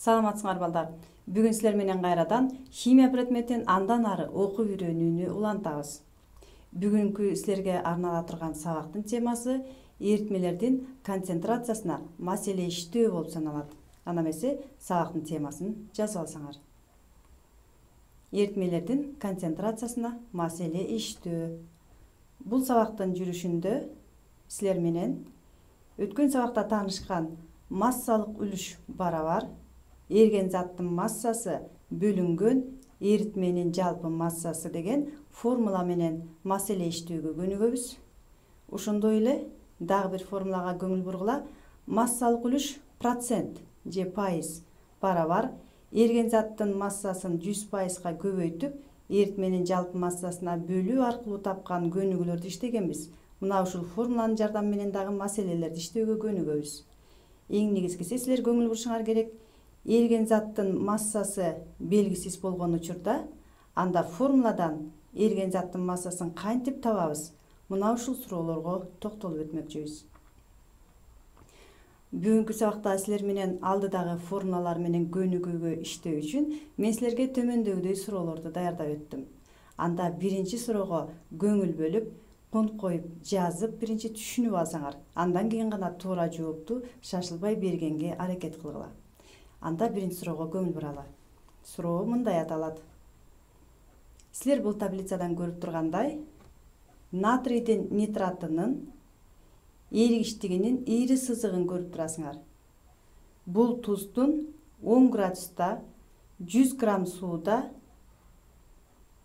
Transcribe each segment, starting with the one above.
Саламатсыңар балдар. Бүгүн силер менен кайрадан химия предметин андан ары окуп үйрөнүүнү улантабыз. Бүгүнкү силерге арнала турган сабактын темасы эритмелердин концентрациясына маселе иштөө болуп саналат. Ана эмесе сабактын темасын жазып алсаңар. Эритмелердин концентрациясына маселе иштөө. Бул сабактын жүрүшүндө силер менен өткөн сабакта таанышкан массалык үлүш барабар, эрген заттын массасы бөлүнгөн эритменин жалпы массасы деген формула менен маселе иштөөгө көнүгөбүз. Ошондой эле дагы бир формулага көңүл бургула. Массалык үлүш процент же пайыз барабар эрген заттын массасын 100%га көбөйтүп, эритменин жалпы массасына бөлүү аркылуу тапкан көнүгүүлөрдү иштегенбиз. Мына ушул формуланын жардамы менен дагы маселелерди иштөөгө көнүгөбүз. Эң негизгиси силер көңүл бурушуңар керек. Эрген заттын массасы белгисиз болгон учурда, анда формуладан эрген заттын массасын кантип табабыз? Мына ушул суроолорго токтолуп өтмөкчүбүз. Бүгүнкү сабакта силер менен алдыдагы формулалар менен көнүгүүгө иштөө үчүн мен силерге төмөндөгүдөй суроолорду даярдап өттүм. Анда биринчи суроого көңүл бөлүп, конт коюп, жазып, биринчи түшүнүп алсаңар, андан кийин гана туура жоопту шашылбай бергенге аракет кылгыла. Анда биринчи суроого көңүл буралы. Суроо мындай аталат. Силер бул таблицадан көрүп тургандай, натрийдин нитратынын эригиштигинин ири сызыгын көрүп турасыңар. Бул туздун 10 градуста 100 грамм сууда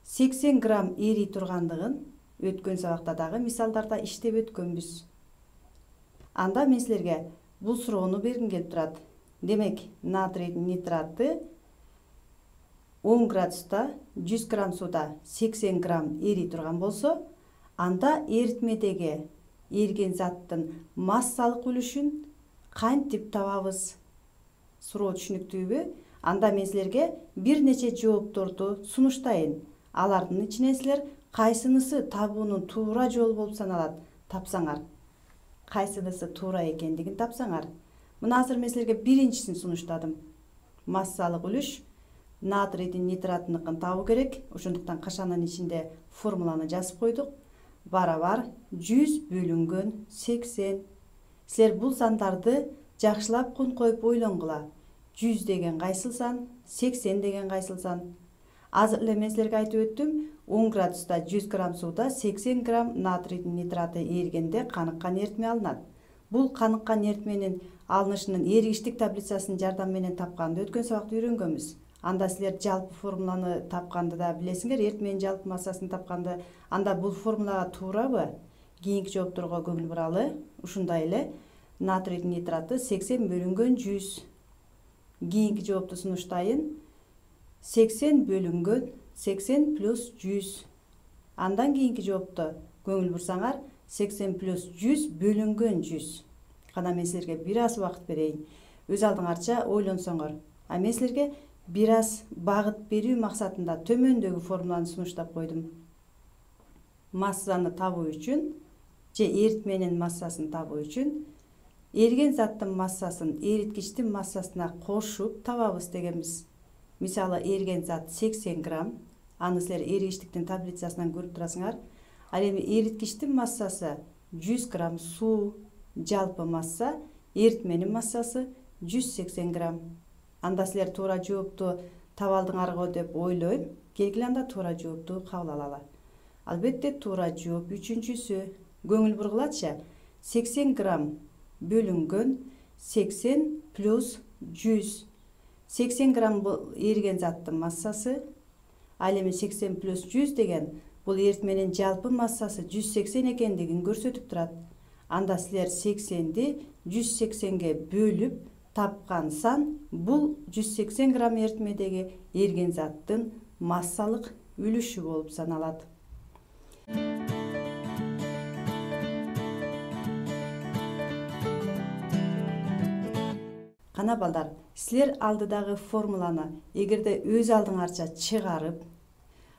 80 грамм эрий тургандыгын өткөн сабакта дагы мисалдарда иштеп өткөнбүз. Анда мен силерге бул суроону бергим келип турат. Демек, натрий нитраты 10 градуста 100 грамм сууда 80 грамм эрий турган болсо, анда эритмедеги эрген заттын массалык үлүшүн кантип табабыз? Суроо түшүнүктүүбү? Анда мен силерге бир нече жоопторду сунуштайын. Алардын ичинен силер кайсынысы табуунун туура жолу болуп саналат тапсаңар, кайсынысы туура экендигин тапсаңар. Мына азыр мен силерге биринчисин сунуштадым. Массалык үлүш натрийдин нитратыныкын табуу керек. Ошондуктан кашанын ичинде формуланы жазып койдук. Барабар 100 бөлүнгөн 80. Силер бул сандарды жакшылап конт коюп ойлонгула. 100 деген кайсыл сан, 80 деген кайсыл сан. Азыр эле мен силерге айтып өттүм, 10 градуста 100 грамм сууда 80 грамм натрийдин нитраты эригенде каныккан эритме алынат. Бул каныккан эритменин алынышынын эригиштик таблицасынын жардамы менен тапканды өткөн сабакта үйрөнгөнбүз. Анда силер жалпы формуланы тапканды да билесиңер, эритменин жалпы массасын тапканды. Анда бул формулага туурабы? Кийинки жоопторго көңүл буралы. Ушундай эле натрийдин нитраты 80 бөлүнгөн 100. Кийинки жоопту сунуштайын. 80 бөлүнгөн 80 плюс 100. Андан кийинки жоопту көңүл бурсаңар, 80 плюс 100 бөлүнгөн 100. Кана мен силерге бир аз убакыт берейин. Өз алдыңарча ойлонсоңор. А мен силерге бир аз багыт берүү максатында төмөндөгү формуланы сунуштап койдум. Массаны табуу үчүн же эритменин массасын табуу үчүн эрген заттын массасын эриткичтин массасына кошуп табабыз дегенбиз. Мисалы, эрген зат 80 грамм, аны силер эригиштиктин таблицасынан көрүп турасыңар. Ал эми эриткичтин массасы 100 грамм суу, жалпы масса эритменин массасы 180 грамм. Анда силер туура жоопту таба алдыңарго деп ойлойм. Келгиле анда туура жоопту кабыл алалы. Албетте туура жооп үчүнчүсү. Көңүл бургулачы. 80 грамм бөлүнгөн 80 плюс 100. 80 грамм бул эриген заттын массасы. Ал эми 80 плюс 100 деген бул эритменин жалпы массасы 180 экендигин көрсөтүп турат. Анда силер 80ди 180ге бөлүп тапкан сан бул 180 грамм эритмедеги эрген заттын массалык үлүшү болуп саналат. Кана балдар, силер алдыдагы формуланы эгерде өз алдыңарча чыгарып,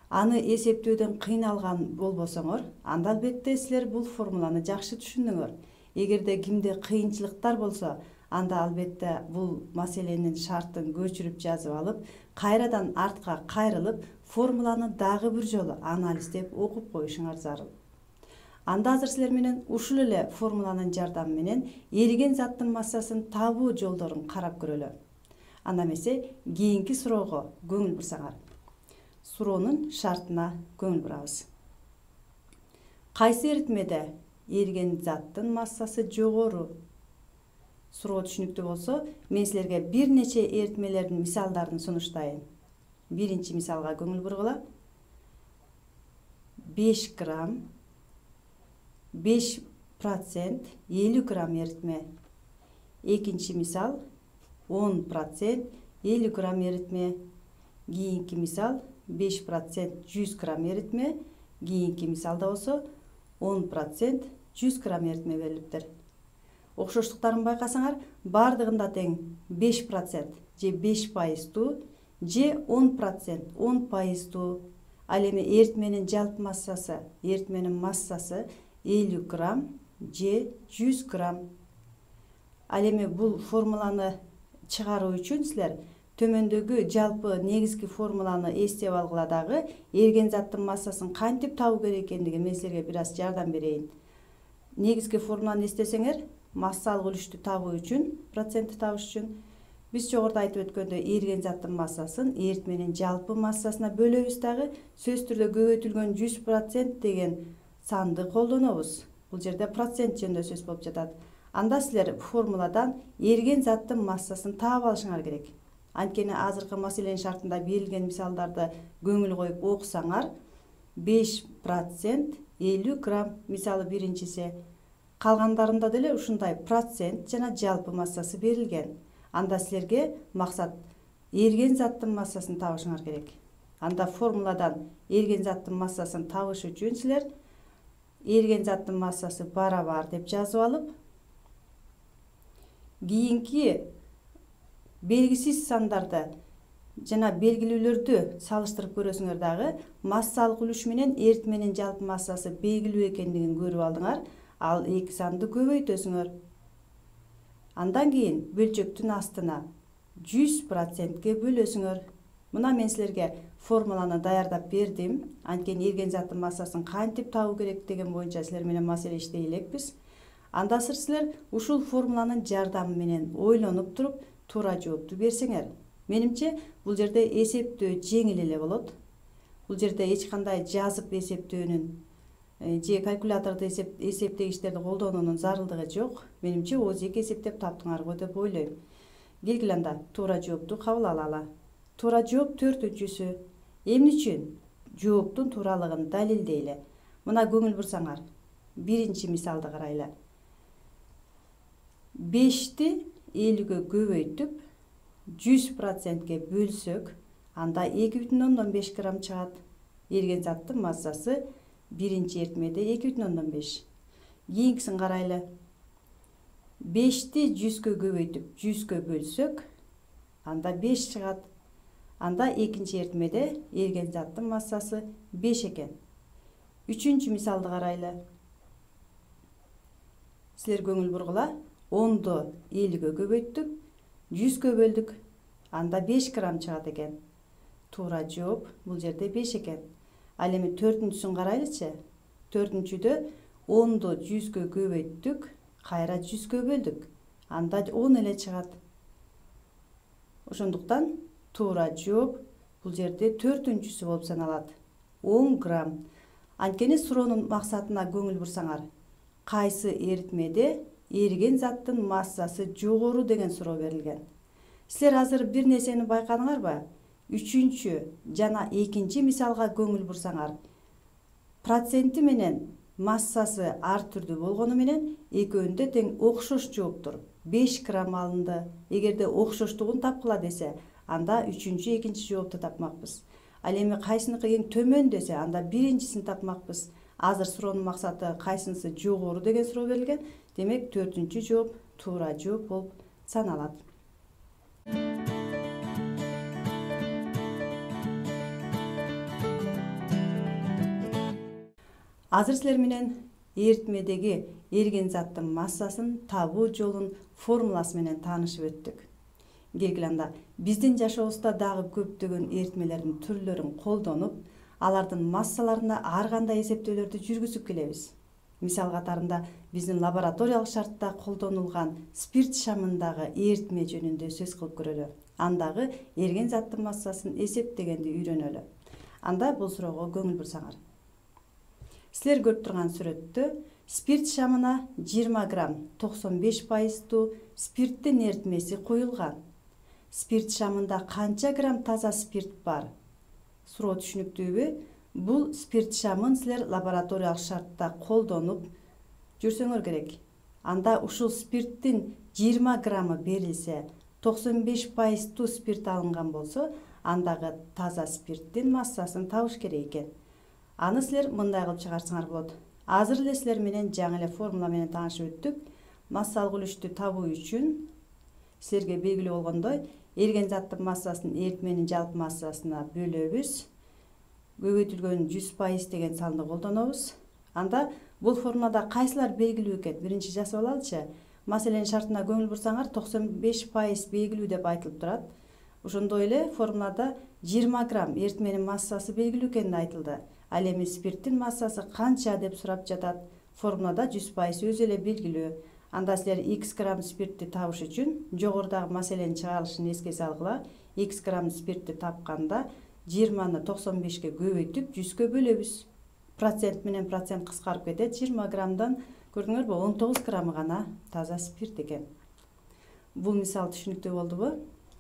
аны эсептөөдөн кыйналган болбосоңор, анда албетте силер бул формуланы жакшы түшүндүңөр. Эгерде кимде кыйынчылыктар болсо, анда албетте бул маселенин шартын көчүрүп жазып алып, кайрадан артка кайрылып, формуланы дагы бир жолу анализдеп окуп коюшуңар зарыл. Анда азыр силер менен ушул эле формуланын жардамы менен эриген заттын массасын табуу жолдорун карап көрөлү. Анда эмесе кийинки суроого көңүл бурсаңар. Суроонун шартына көңүл бурабыз. Кайсы эритмеде эриген заттын массасы жогору? Суроо түшүнүктүү болсо, мен силерге бир нече эритмелердин мисалдарын сунуштайын. Биринчи мисалга көңүл бургула. 5 грамм 5% 50 грамм эритме. Экинчи мисал 10% 50 грамм эритме. Кийинки мисал 5% 100 грамм эритме. Кийинки мисалда болсо 10% 100 грамм эритме берилиптир. Окшоштуктарын байкасаңар, бардыгында тең 5% же 5%, же 10% 10%. Ал эми эритменин жалпы массасы, эритменин массасы 50 грамм же 100 грамм. Ал эми бул формуланы чыгаруу үчүн силер төмөндөгү жалпы негизги формуланы эстеп алгыла дагы эриген заттын массасын кантип табуу керек экендиги мен силерге бир аз жардам берейин. Негизги формуланы эстесеңер, массалык үлүштү табуу үчүн, процентти табыш үчүн биз жогоруда айтып өткөндөй эриген заттын массасын эритменин жалпы массасына бөлөбүз дагы сөз түрдө көбөйтүлгөн 100% деген санды колдонобуз. Бул жерде процент жөнүндө сөз болуп жатат. Анда силер формуладан эриген заттын массасын таап алышыңар керек. Анткени азыркы маселенин шартында берилген мисалдарды көңүл коюп окусаңар, 5% 50 грамм мисалы биринчиси, калгандарында деле ушундай процент жана жалпы массасы берилген. Анда силерге максат эриген заттын массасын табышыңар керек. Анда формуладан эриген заттын массасын табыш үчүн силер эриген заттын массасы барабар деп жазып алып, кийинки белгисиз сандарды жана белгилүүлөрдү салыштырып көрөсүңөр дагы, массалык үлүш менен эритменин жалпы массасы белгилүү экендигин көрүп алдыңар. Ал эки санды көбөйтөсүңөр. Андан кийин бөлчөктүн астына 100%ке бөлөсүңөр. Мына мен силерге формуланы даярдап бердим. Анткени эриген заттын массасын кантип табуу керек деген боюнча силер менен маселе иштей элекпиз. Анда силер ушул формуланын жардамы менен ойлонуп туруп туура жоопту берсеңер, менимче бул жерде эсептөө жеңил эле болот. Бул жерде эч кандай жазып эсептөөнүн же калькуляторду эсептегичтерди колдонуунун зарылдыгы жок. Менимче ооз-эки эсептеп таптыңар го деп ойлойм. Келгиле анда туура жоопту кабыл алалы. Туура жооп 4-үнчүсү. Эмне үчүн? Жооптун тууралыгын далилдейле. Мына көңүл бурсаңар, биринчи мисалды карайлы. 5ти 50ге көбөйтүп 100%ке бөлсөк, анда 2,5 грамм чыгат. Эриген заттын массасы биринчи эритмеде 2,5. Кийинкисин карайлы. 5ти 100ге көбөйтүп 100ге бөлсөк, анда 5 чыгат. Анда экинчи эритмеде эриген заттын массасы 5 экен. Үчүнчү мисалды карайлы. Силер көңүл бургула, 10ду 50ге көбөйттүк, 100ге бөлдүк. Анда 5 грамм чыгат экен. Туура жооп бул жерде 5 экен. Ал эми 4-үнчүсүн карайлычы. 4-үнчүдө 10ду 100ге көбөйттүк, кайра 100ге бөлдүк. Анда 10 эле чыгат. Ошондуктан туура жооп бул жерде 4-үнчүсү болуп саналат. 10 грамм. Анткени суроонун максатына көңүл бурсаңар, кайсы эритмеде эриген заттын массасы жогору деген суроо берилген. Силер азыр бир нерсени байкадыңарбы? Үчүнчү жана экинчи мисалга көңүл бурсаңар, проценти менен массасы ар түрдүү болгону менен экөөндө тең окшош жооптур. 5 грамм алынды. Эгерде окшоштугун тапкыла десе, анда үчүнчү экинчи жоопту тапмакпыз. Ал эми кайсыныкы эң төмөн десе, анда биринчисин тапмакпыз. Азыр суроонун максаты кайсынысы жогору деген суроо берилген. Демек 4-үнчү жооп туура жооп болуп саналат. Азыр силер менен эритмедеги эриген заттын массасын табуу жолун формуласы менен таанышып өттүк. Келгиле анда биздин жашообузда дагы көптөгөн эритмелердин түрлөрүн колдонуп, алардын массаларына ар кандай эсептөөлөрдү жүргүзүп келебиз. Мисал катарында биздин лабораториялык шартта колдонулган спирт шамындагы эритме жөнүндө сөз кылып көрөлү. Андагы эрген заттын массасын эсептегенди үйрөнөлү. Анда бул суроого көңүл бурсаңар. Силер көрүп турган сүрөттө спирт шамына 20 грамм 95% спирттин эритмеси куюлган. Спирт шамында канча грамм таза спирт бар? Суроо түшүнүктүүбү? Бул спирт шамын силер лабораториялык шартта колдонуп жүрсөңөр керек. Анда ушул спирттин 20 граммы берилсе, 95% спирт алынган болсо, андагы таза спирттин массасын табыш керек экен. Аны силер мындай кылып чыгарсаңар болот. Азыр эле силер менен жаңы эле формула менен таанышып өттүк. Массалык үлүштү табуу үчүн силерге белгилүү болгондой, эрген заттын массасын эритменин жалпы массасына бөлөбүз. Көбөйтүлгөн 100% деген санды колдонобуз. Анда бул формулада кайсылар белгилүү экен? Биринчи жасап алалычы. Маселенин шартына көңүл бурсаңар, 95% белгилүү деп айтылып турат. Ошондой эле формулада 20 грамм эритменин массасы белгилүү экени айтылды. Ал эми спирттин массасы канча деп сурап жатат. Формулада 100% өзү эле белгилүү. Анда силер x грамм спиртти табыш үчүн жогорудагы маселенин чыгарылышын эске салгыла. X грамм спиртти тапканда 20-ны 95-ке көбөйтүп 100-кө бөлөбүз. Процент менен процент кыскарып кетет. 20 граммдан көрдүңөрбү 19 граммы гана таза спирт экен. Бул мисал түшүнүктүү болдубу?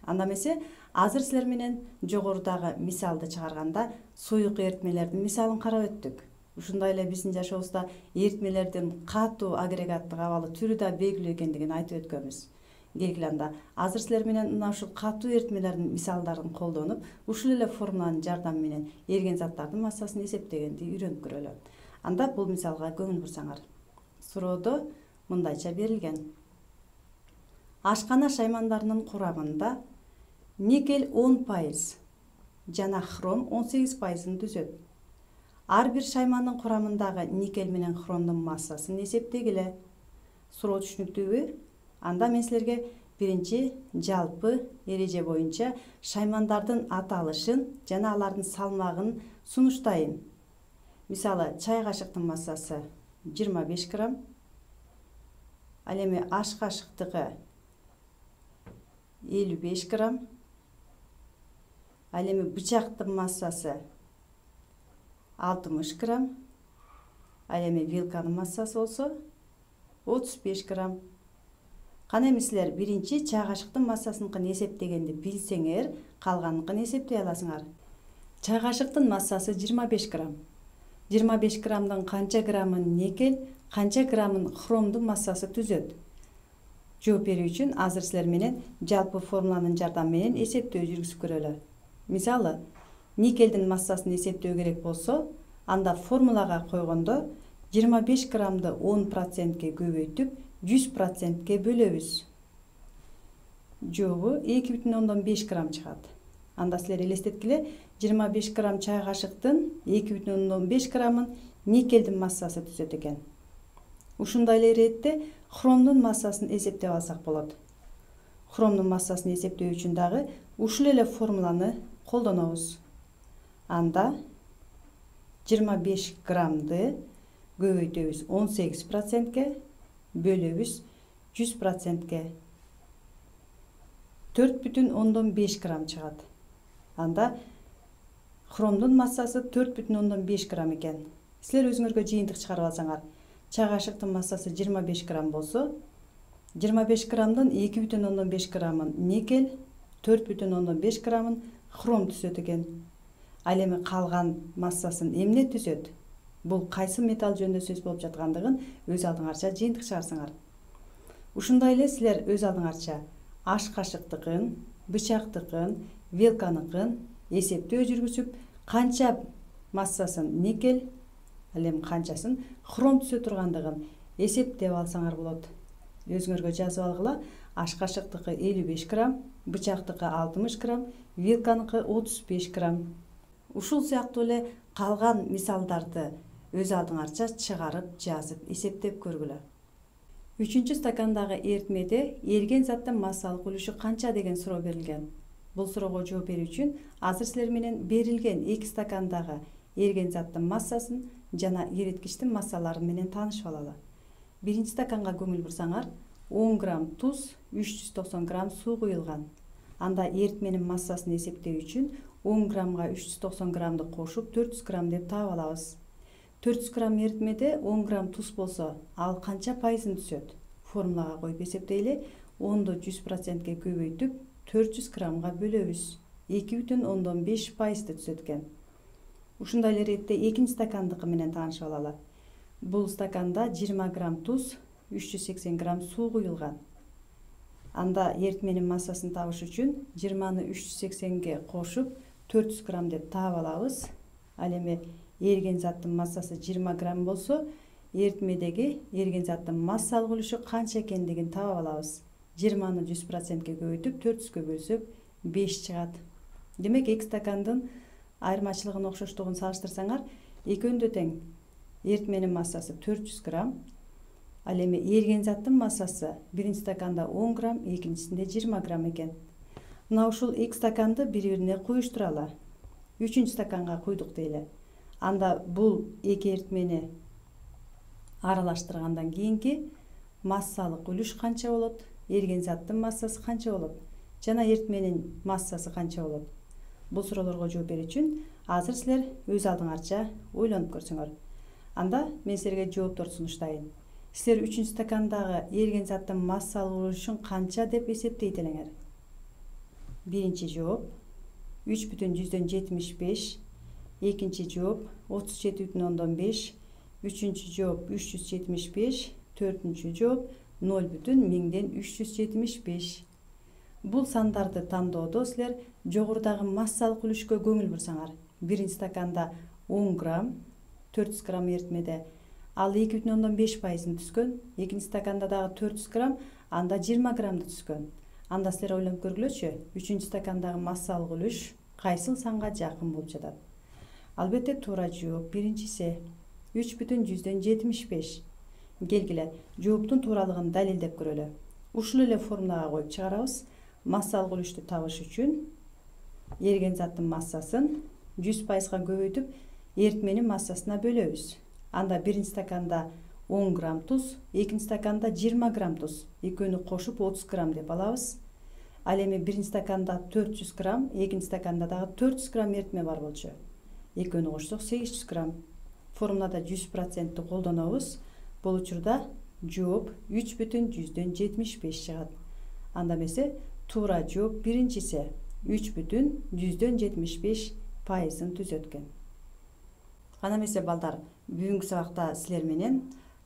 Анда эмесе азыр силер менен жогорудагы мисалды чыгарганда суюк эритмелердин мисалын карап өттүк. Ушундай эле биздин жашообузда эритмелердин катуу агрегаттык абалы түрү да белгилүү экендигин айтып өткөнбүз. Келгиле анда азыр силер менен мына ушул катуу эритмелердин мисалдарын колдонуп, ушул эле формуланын жардамы менен эрген заттардын массасын эсептегенди үйрөнүп көрөлү. Анда бул мисалга көңүл бурсаңар. Суроодо мындайча берилген. Ашкана шаймандарынын курамында никель 10% жана хром 18%-ын түзөт. Ар бир шаймандын курамындагы никель менен хромдун массасын эсептегиле. Суроо түшүнүктүүбү? Анда мен силерге биринчи жалпы эреже боюнча шаймандардын аталышын жана алардын салмагын сунуштайын. Мисалы, чай кашыктын массасы 25 грамм. Ал эми аш кашыктыкы 55 грамм. Ал эми бычактын массасы 60 грамм. Ал эми вилканын массасы болсо 35 грамм. Кана эми силер биринчи чай кашыктын массасыныкын эсептегенди билсеңер, калганыныкын эсептей аласыңар. Чай кашыктын массасы 25 грамм. 25 граммдын канча граммын никель, канча граммын хромдун массасы түзөт? Жооп берүү үчүн азыр силер менен жалпы формуланын жардамы менен эсептөө жүргүзүп көрөлү. Мисалы, никелдин массасын эсептөө керек болсо, анда формулага койгондо 25 граммды 10%ке көбөйтүп 100%ке бөлөбүз. Жообу 2,5 грамм чыгат. Анда силер элестеткиле, 25 грамм чай кашыктын 2,5 граммын никелдин массасы түзөт экен. Ушундай эле иретте хромдун массасын эсептеп алсак болот. Хромдун массасын эсептөө үчүн дагы ушул эле формуланы колдонобуз. Анда 25 граммды көбөйтөбүз 18%ке, бөлөбүз 100%ке. 4,5 грамм чыгат. Анда хромдун массасы 4,5 грамм экен. Силер өзүңөргө жыйынтык чыгарып алсаңар, чай кашыктын массасы 25 грамм болсо, 25 граммдын 2,5 граммын никель, 4,5 граммын хром түзөт экен. Ал эми калган массасын эмне түзөт? Бул кайсы металл жөнүндө сөз болуп жаткандыгын өз алдыңарча жыйынтык чыгарсаңар. Ушундай эле силер өз алдыңарча аш кашыктыкын, бычактыкын, вилканыкын эсептөө жүргүзүп, канча массасын никель, ал эми канчасын хром түзө тургандыгын эсептеп алсаңар болот. Өзүңөргө жазып алгыла. Аш кашыктыкы 55 грамм, бычактыкы 60 грамм, вилканыкы 35 грамм. Ушул сыяктуу эле калган мисалдарды өз алдыңарча чыгарып, жазып, эсептеп көргүлө. 3 стакандагы эритмеде эриген заттын массалык үлүшү канча деген суроо берилген. Бул суроого жооп берүү үчүн азыр силер менен берилген 2 стакандагы эриген заттын массасын жана эриткичтин массалары менен таанышып алалы. Биринчи стаканга көңүл бурсаңар, 10 грамм туз, 390 грамм суу куюлган. Анда эритменин массасын эсептөө үчүн 10 граммга 390 граммды кошуп 400 грамм деп таап алабыз. 400 грамм эритмеде 10 грамм туз болсо, ал канча пайызын түзөт? Формулага коюп эсептейли. 10ду 100%ке көбөйтүп 400 граммга бөлөбүз. 2,5 пайызды түзөт экен. Ушундай эле иретте экинчи стакандыкы менен таанышып алалы. Бул стаканда 20 грамм туз, 380 грамм суу куюлган. Анда эритменин массасын табыш үчүн 20-ны 380ге кошуп 400 грамм деп таап алабыз. Ал эми эриген заттын массасы 20 грамм болсо, эритмедеги эриген заттын массалык үлүшү канча экендигин таап алабыз. 20-ны 100%ке көбөйтүп 400гө бөлсөк 5 чыгат. Демек 2 стакандын айырмачылыгын, окшоштугун салыштырсаңар, экөөндө тең. Эритменин массасы 400 грамм. Ал эми эриген заттын массасы биринчи стаканда 10 грамм, экинчисинде 20 грамм экен. Мына ушул 2 стаканды бири-бирине куюштуралы. 3 стаканга куйдук дейли. Анда бул эки эритмени аралаштыргандан кийинки массалык үлүш канча болот? Эриген заттын массасы канча болот? Жана эритменин массасы канча болот? Бул суроолорго жооп берүү үчүн азыр силер өз алдыңарча ойлонуп көрсөңөр. Анда мен силерге жоопторду сунуштайын. Силер 3 стакандагы эриген заттын массалык үлүшүн канча деп эсептейт элеңер? Биринчи жооп 3,75, экинчи жооп 37,5, үчүнчү жооп 375, төртүнчү жооп 0,1375. Бул сандарды тандоодо силер жогорудагы массалык үлүшкө көңүл бурсаңар, биринчи стаканда 10 грамм, 400 грамм эритмеде ал 2,5 пайызын түзгөн, экинчи стаканда дагы 400 грамм, анда 20 граммды түзгөн. Анда силер ойлонуп көргүлөчү, 3 стакандагы массалык үлүш кайсыл санга жакын болуп жатат? Албетте туура жооп биринчиси 3,75. Келгиле, жооптун тууралыгын далилдеп көрөлү. Ушул эле формулага коюп чыгарабыз. Массалык үлүштү табыш үчүн эриген заттын массасын 100%га көбөйтүп эритменин массасына бөлөбүз. Анда биринчи стаканда 10 грамм туз, экинчи стаканда 20 грамм туз. Экөөнү кошуп 30 грамм деп алабыз. Ал эми биринчи стаканда 400 грамм, экинчи стаканда дагы 400 грамм эритме бар болчу. Экөөнү кошсок 800 грамм. Формулада 100%ты колдонобуз. Бул учурда жооп 3,75 чыгат. Анда эмесе туура жооп биринчиси 3,75 пайызын түзөткөн. Кана эмесе балдар, бүгүнкү сабакта силер менен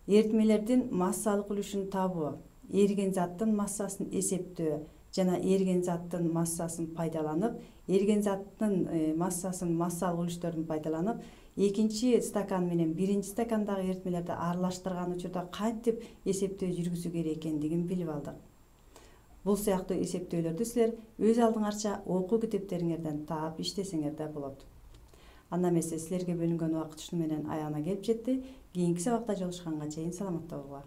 эритмелердин массалык үлүшүн табуу, эриген заттын массасын эсептөө жана эриген заттын массасын пайдаланып, эриген заттын массасын массалык үлүштөрдүн пайдаланып, экинчи стакан менен биринчи стакандагы эритмелерди аралаштырган учурда кантип эсептөө жүргүзүү керек экендигин билип алдык. Бул сыяктуу эсептөөлөрдү силер өз алдыңарча окуу китептериңерден таап иштесеңер да болот. Анда эмесе силерге бөлүнгөн убакыт ушуну менен аягына келип жетти. Кийинки сабакта жолугушканга чейин саламатта болуңар.